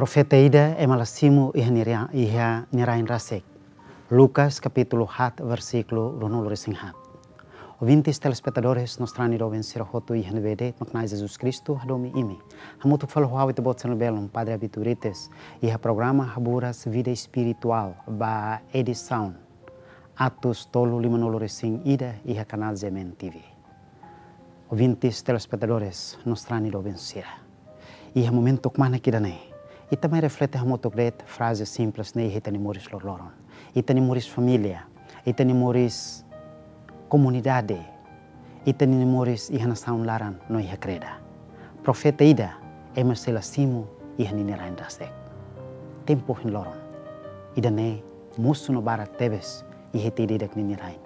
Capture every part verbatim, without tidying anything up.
Profeta ida ema la simu iha nia ria-, iha nia rain rasik. Lucas kapítulu haat versíkulu ruanulu-resin-haat. Ouvintes telespetadores, Nostrani doben sira hotu iha ne'ebé de'it, mak Na'i Jesus Kristu hadomi imi. Hamutuk fali ho ha'u ita-boot sira-nia belun, Padre Abílio Urites, iha programa Haburas Vida Espirituál, ba edisaun atus tolu limanulu-resin-ida iha kanál G M N T V. Ouvintes telespetadores, Nostrani doben sira. Iha momentu kmanek ida-ne'e, ita mai reflete hamutuk de'it fraze simples ne'e iha ita-nia moris loroloron. Ita-nia moris família, ita-nia moris komunidade, ita-nia moris iha nasaun laran no iha kreda. Profeta ida ema sei la simu iha ninia rain rasik. Tempu ohin loron ida-ne'e mosu no barak tebes iha ita ida-idak ninia rain,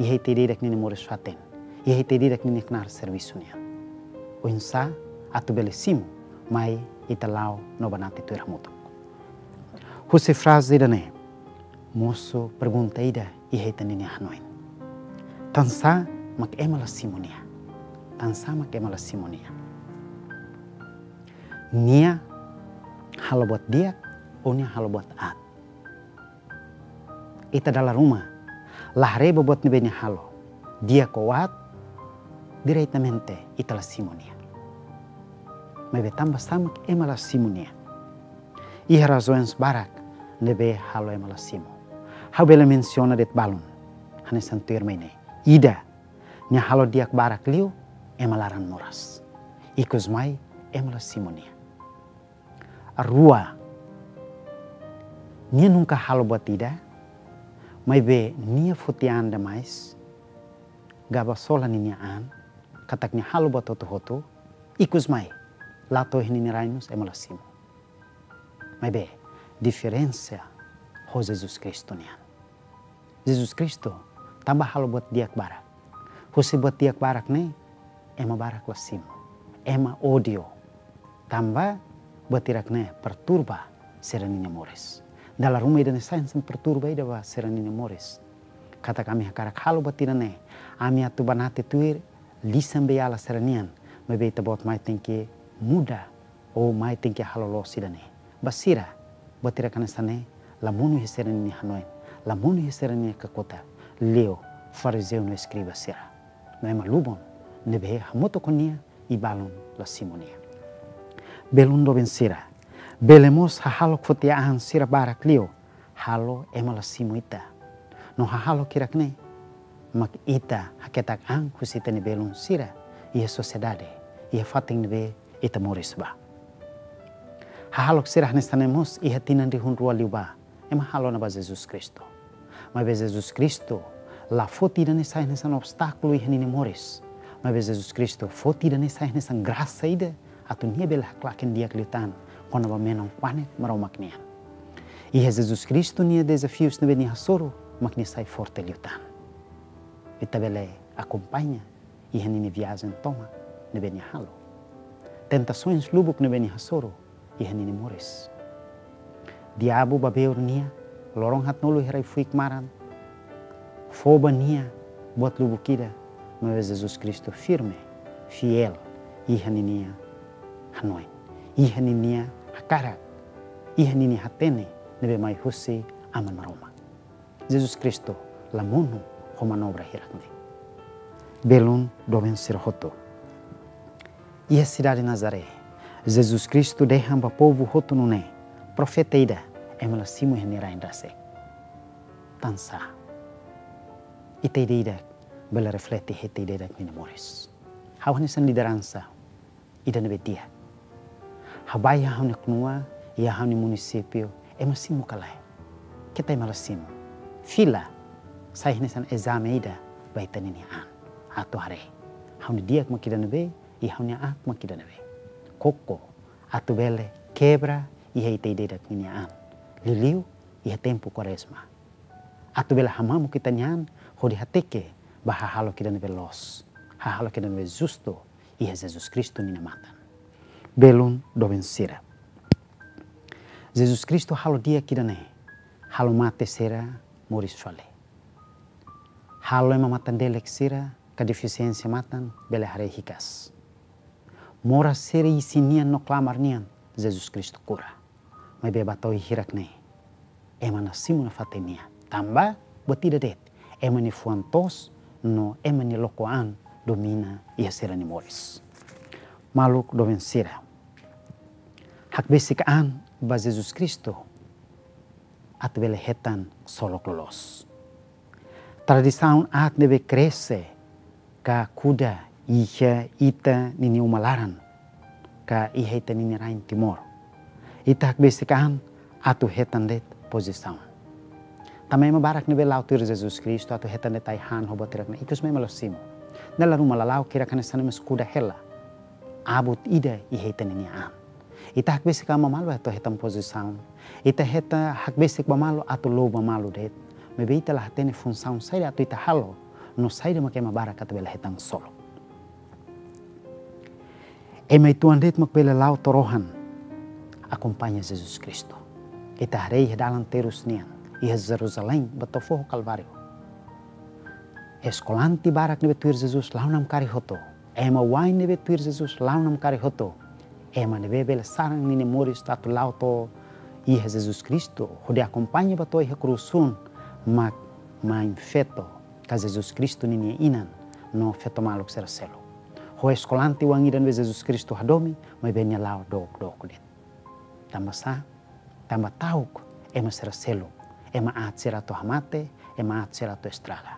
iha ita ida-idak ninia moris fatin, iha ita ida-idak ninia knaar servisu nian. Oinsá atu bele simu, mai ita la'o no banati tuir hamutuk. Husi fraze ida-ne'e mosu pergunta ida iha ita ninia hanoin. Tansá mak ema la simu nia? Tansá mak ema la simu nia? Nia halo buat di'ak ou nia halo buat aat? Ita dala ruma la haree ba buat ne'ebé nia halo, di'ak ou aat, diretamente ita la simu nia. Maibé tanbasá mak ema la simu nia? Iha razaun barak ne'ebé halo ema la simu. Ha'u bele mensiona de'it balun, hanesan tuirmai ne'e. Ida, nia halo di'ak barak liu, ema laran moras. Ikusmai, ema la simu nia. Rua, nia nunka halo buat ida, maibé nia foti an demais, gaba sola ninia an, katak nia halo buat hotu-hotu, ikusmai, la to'o iha ninia rain mós ema la simu. Maibé, diferensa ho Jesus Kristu nian. Jesus Kristu tanba halo buat di'ak barak. Husi buat di'ak barak ne'e, ema barak la simu. Ema ódiu. Tanba buat hirak ne'e perturba sira ninia moris. Dala ruma ida-ne'e sai hanesan perturba ida ba sira ninia moris. Katak ami hakarak halo buat ida-ne'e, ami atu banati tuir lisan beiala sira nian, maibé ita-boot mai tenke muda, ou mai tenke halo loos ida-ne'e. Ba sira, buat hirak hanesan ne'e la monu iha sira ninia hanoin, la monu iha sira ninia kakutak, liu farizeu no eskriba sira. No ema lubun ne'ebé hamutuk ho nia, i balun la simu nia. Belun doben sira, bele mós hahalok foti an sira barak liu, halo ema la simu ita. No hahalok hirak ne'e mak ita haketak an husi ita-nia belun sira iha sosiedade, iha fatin ne'ebé ita moris ba. Hahalok sira hanesan ne'e mós iha tinan rihun rua liubá, ema halo ona ba Jesus Kristu. Maibé Jesus Kristu la foti ida-ne'e sai hanesan obstákulu iha ninia moris. Maibé Jesus Kristu foti ida-ne'e sai hanesan grasa ida, atu nia bele haklaken di'ak liután kona-ba menon kuanek Maromak nian. Iha Jesus Kristu nia dezafius ne'ebé nia hasoru, mak nia sai forte liután. Ita bele akompaña iha ninia viajen tomak ne'ebé nia halo. Tentasaun lubuk ne'ebé nia hasoru iha ninia moris. Diabu babeur nia, loron haatnulu iha rai-fuik maran, fó ba nia buat lubuk ida, maibé Jesus Kristu firme, fiél iha ninia hanoin, iha ninia hakarak, iha ninia hatene ne'ebé mai husi Aman Maromak. Jesus Kristu la monu ho manobra hirak ne'e. Belun doben sira hotu. Iha sidade Nazaré, Jesus Kristu dehan ba povu hotu nune'e, profeta ida ema la simu iha nia rain rasik. Tansá? Ita ida-idak bele reflete iha ita ida-idak ninia moris. Ha'u hanesan lideransa ida ne'ebé di'ak. Ha'u bá iha ha'u-nia knua, iha ha'u-nia munisípiu, ema simu ka lae? Keta ema la simu. Fila sai hanesan ezame ida ba ita ninia an. Atu haree, ha'u-nia di'ak mak ida ne'ebé, i ha'u-nia aat mak ida ne'ebé. Koko atu bele kebra iha ita ida-idak ninia an. Liuliu iha tempu Kuarezma. Atu bele hamamuk ita-nia an hodi hateke ba hahalok ida ne'ebé loos, hahalok ida ne'ebé justu iha Jesus Kristu ninia matan. Belun doben sira. Jesus Kristu halo di'ak ida-ne'e, halo mate sira moris fali. Halo ema matan-delek sira ka defisiénsia matan bele haree hikas. Moras sira isin nian no klamar nian, Jesus Kristu kura. Maibé ba to'o hirak ne'e, ema la simu nafatin nia. Tanba buat ida de'it, ema nia fuan toos no ema nia lokon an domina iha sira-nia moris. Maluk doben sira, hakbesik an ba Jesus Kristu atu bele hetan ksolok loloos. Tradisaun aat ne'ebé krese ka kuda iha ita-nia uma laran, ka iha ita-nia rain Timor. Ita hakbesik an atu hetan de'it pozisaun. Tanba ema barak ne'ebé la'o tuir Jesus Kristu atu hetan de'it ai-han ho buat hirak ne'e, ikus mai ema la simu. Dala ruma lala'ok hirak hanesan ema kuda hela. Abut ida iha ita-nia an. Ita hakbesik an ba malu atu hetan pozisaun. Ita hetan hakbesik ba malu atu la'o ba malu de'it. Maibé ita la hatene funsaun saida atu ita halo, no saida mak ema barak atu bele hetan ksolok. Ema uitoan de'it mak bele la'o to'o rohan akompaña Jesus Kristu. Ita haree iha dalan terus nian, iha Jerusalém ba to'o foho Kalváriu. Eskolante barak ne'ebé tuir Jesus la'o namkari hotu. Ema wa'in ne'ebé tuir Jesus la'o namkari hotu. Ema ne'ebé bele saran ninia moris atu la'o to'o iha Jesus Kristu, hodi akompaña ba to'o iha krús hun, mak mãe feto, ka Jesus Kristu ninia inan, no feto maluk sira seluk. Ho eskolante wa'in ida ne'ebé Jesus Kristu hadomi, maibé nia la'o dook-dook de'it. Tanba sá? Tanba ta'uk ema sira seluk, ema aat sira atu hamate, ema aat sira atu estraga.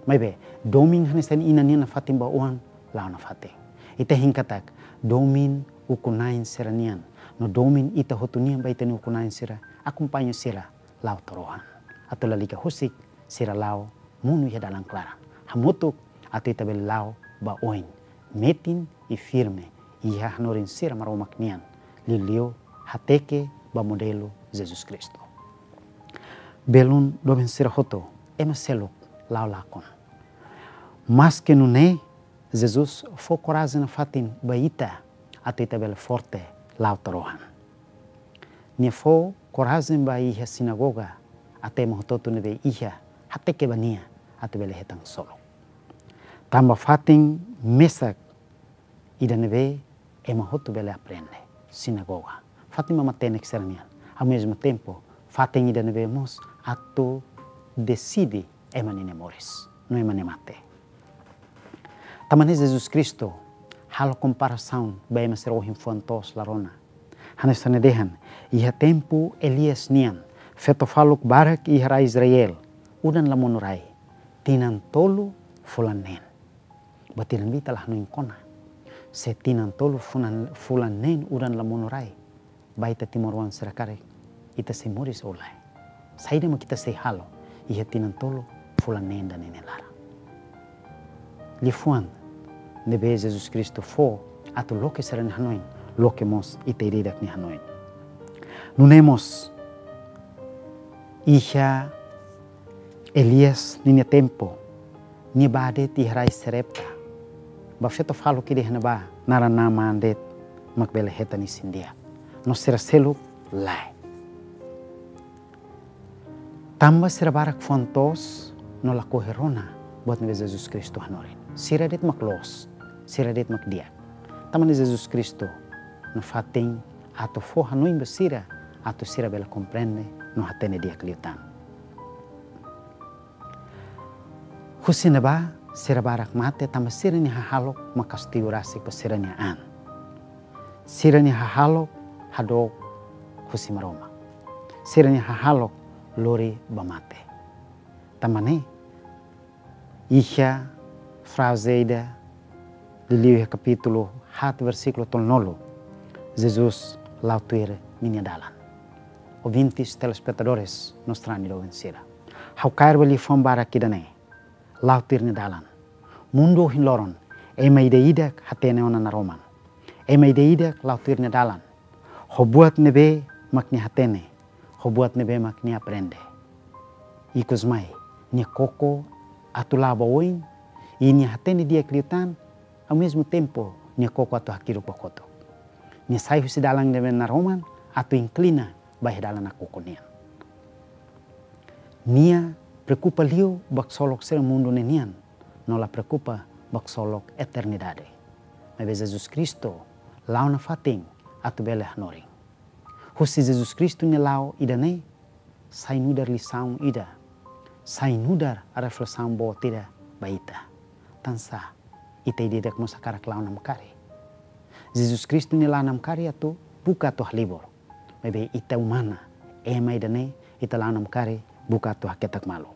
Maibé, domin hanesan inan nian nafatin ba oan, la'o nafatin. Ita hein katak, domin ukun-na'in sira-nian, no domin ita hotu nian ba ita-nia ukun-na'in sira, akompaña sira la'o to'o rohan. Atu lalika husik, sira la'o monu iha dalan klaran. Hamutuk atu ita bele la'o ba oin, metin i firme iha hanorin sira Maromak nian, liuliu hateke ba modelu Jesus Kristu. Belun doben sira hotu, ema seluk la'o lakon. Maske nune'e, Jesus fó korajen nafatin ba ita, atu ita bele forte la'o to'o rohan. Nia fó korajen ba iha sinagoga, atu ema hotu-hotu ne'ebé iha hateke ba nia atu bele hetan ksolok. Tanba fatin mesak ida ne'ebé ema hotu bele aprende, sinagoga. Fatin ba matenek sira-nian. Ao mesmo tempo, fatin ida ne'ebé mós atu deside ema ninia moris no ema nia mate. Tanba ne'e Jesus Kristu halo komparasaun ba ema sira ohin fuan toos la rona. Hanesan nia dehan, iha tempu Elias nian, feto faluk barak iha rai Israel, udan la monu rai, tinan tolu fulan neen. Buat ida ne'ebé ita la hanoin kona. Se tinan tolu fulan, fulan neen udan la monu rai, ba ita timoroan sira karik, ita sei moris ou lae? Saida mak ita sei halo iha tinan tolu fulan neen ida-ne'e nia laran? Liafuan ne'ebé Jesus Kristu fó atu loke sira-nia hanoin, loke mós ita ida-idak nia hanoin. Nune'e mós iha Elias ninia tempu, nia bá de'it iha rai Sarepta. Ba feto faluk ida iha ne'ebá, naran Naaman de'it mak bele hetan isin-di'ak. No sira seluk lae. Tanba sira barak fuan toos no lakohi rona buat ne'ebé Jesus Kristu hanorin. Sira de'it mak loos, sira de'it mak di'ak. Tanba ne'e Jesus Kristu nafatin atu fó hanoin ba sira, atu sira bele komprende no hatene di'ak liután. Husi ne'ebá sira barak mate tanba sira-nia hahalok mak kastigu rasik ba sira-nia an. Sira-nia hahalok hadook husi Maromak. Sira-nia hahalok lori ba mate. Tanba ne'e, iha fraze ida, liuliu iha kapítulu haat versíkulu tolunulu, Jesus la'o tuir ninia dalan. Ouvintes, telespetadores, no sarani doben sira, ha'u kaer ba liafuan barak ida-ne'e, la'o tuir nia dalan. Mundu ohin loron, ema ida-idak hatene ona naroman. Ema ida-idak la'o tuir nia dalan. Ho buat ne'ebé mak nia hatene, ho buat ne'ebé mak nia aprende. Ikus mai, nia koko atu la'o ba oin, i nia hatene di'ak liután, ao mesmo tempo, nia koko atu hakiruk ba kotuk. Nia sai husi dalan ne'ebé naroman, atu inklina ba iha dalan nakukun nian. Nia preokupa liu ba ksolok sira mundu ne'e nian, no la preokupa ba ksolok eternidade. Maibé Jesus Kristu la'o nafatin atu bele hanorin. Husi Jesus Kristu nia la'o ida-ne'e sai nu'udar lisaun ida, sai nu'udar reflesaun boot ida ba ita. Tansá ita ida-idak mós hakarak la'o namkari. Jesus Kristu nia la'o namkari atu buka atu halibur. Maibé ita umana, ema ida-ne'e, ita la'o namkari buka atu haketak malu.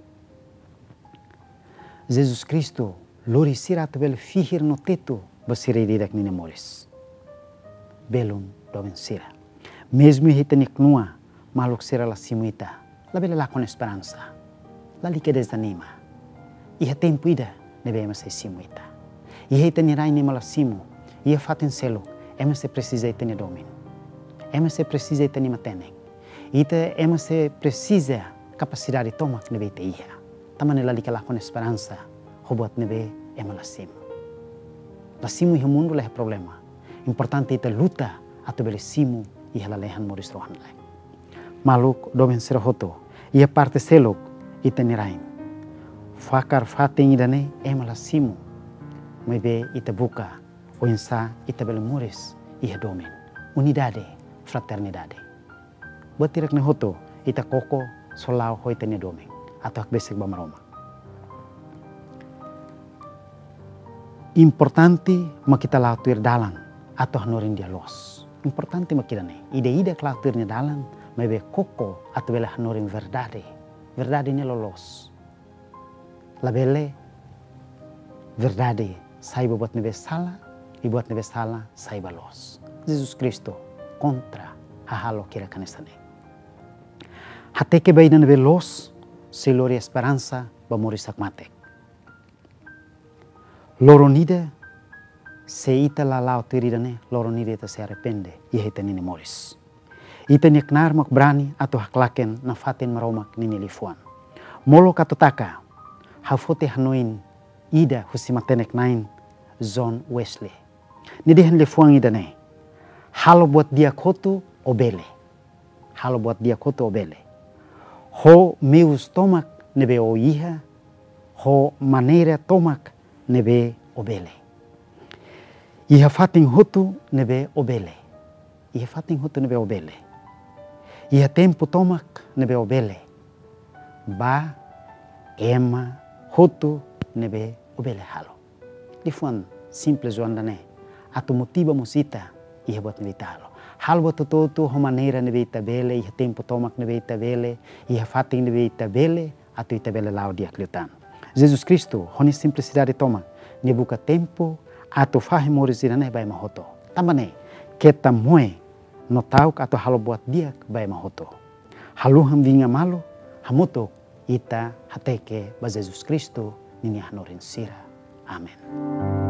Jesus Kristu lori sira atu bele fihir no tetu ba sira ida-idak ninia moris. Belun doben sira. Mezmu iha ita-nia knua, maluk sira la simu ita, labele lakon esperansa. Lalika dezanima. Iha tempu ida ne'ebé ema sei simu ita. Iha ita-nia rain ema la simu, iha fatin seluk, ema sei presiza ita-nia domin. Ema sei presiza ita-nia matenek. Ita, ema sei presiza kapasidade tomak ne'ebé ita iha. Tanba ne'e lalika lakon esperansa ho buat ne'ebé ema la simu. La simu iha mundu la iha problema. Importante ita luta atu bele simu iha lalehan moris rohan-laek. Maluk doben sira hotu, iha parte seluk ita-nia rain. Fakar fatin ida-ne'e ema la simu. Maibé ita buka oinsá ita bele moris iha domin, unidade, fraternidade. Buat hirak-ne'e hotu ita koko sira la'o ho ita-nia domin atu hakbesik ba Maromak. Importante mak ita la'o tuir dalan atu hanorin di'ak loos. Importante mak ida-ne'e. Ida-idak la'o tuir nia dalan, maibé koko atu bele hanorin verdade. Verdade ne'e loloos. Labele verdade sai ba buat ne'ebé sala, i buat ne'ebé sala sai ba loos. Jesus Kristu kontra hahalok hirak hanesan ne'e. Hateke ba ida ne'ebé loos sei lori esperansa ba moris hakmatek. Loron ida, se ita la la'o tuir ida-ne'e, loron ida ita sei arrepende iha ita-nia moris. Ita-nia knaar mak brani atu haklaken nafatin Maromak ninia liafuan. Molok atu taka, ha'u foti hanoin ida husi matenek-na'in John Wesley. Nia dehan liafuan ida-ne'e: halo buat di'ak hotu ó bele. Halo buat di'ak hotu ó bele. Ho meius tomak ne'ebé ó iha, ho maneira tomak ne'ebé ó bele. Iha fatin hotu ne'ebé ó bele. Iha fatin hotu ne'ebé ó bele. Iha tempu tomak ne'ebé ó bele. Ba ema hotu ne'ebé ó bele halo. Liafuan simples oan ida-ne'e atu motiva mós ita iha buat ne'ebé ita halo. Halo buat hotu-hotu ho maneira ne'ebé ita bele, iha tempu tomak ne'ebé ita bele, iha fatin ne'ebé ita bele, atu ita bele la'o di'ak liután. Jesus Kristu, ho nia simplisidade tomak, nia buka tempu atu fahe moris ida-ne'e ba ema hotu. Tanba ne'e, keta moe no ta'uk atu halo buat di'ak ba ema hotu. Haluha vinga malu, hamutuk ita hateke ba Jesus Kristu ninia hanorin sira. Amen.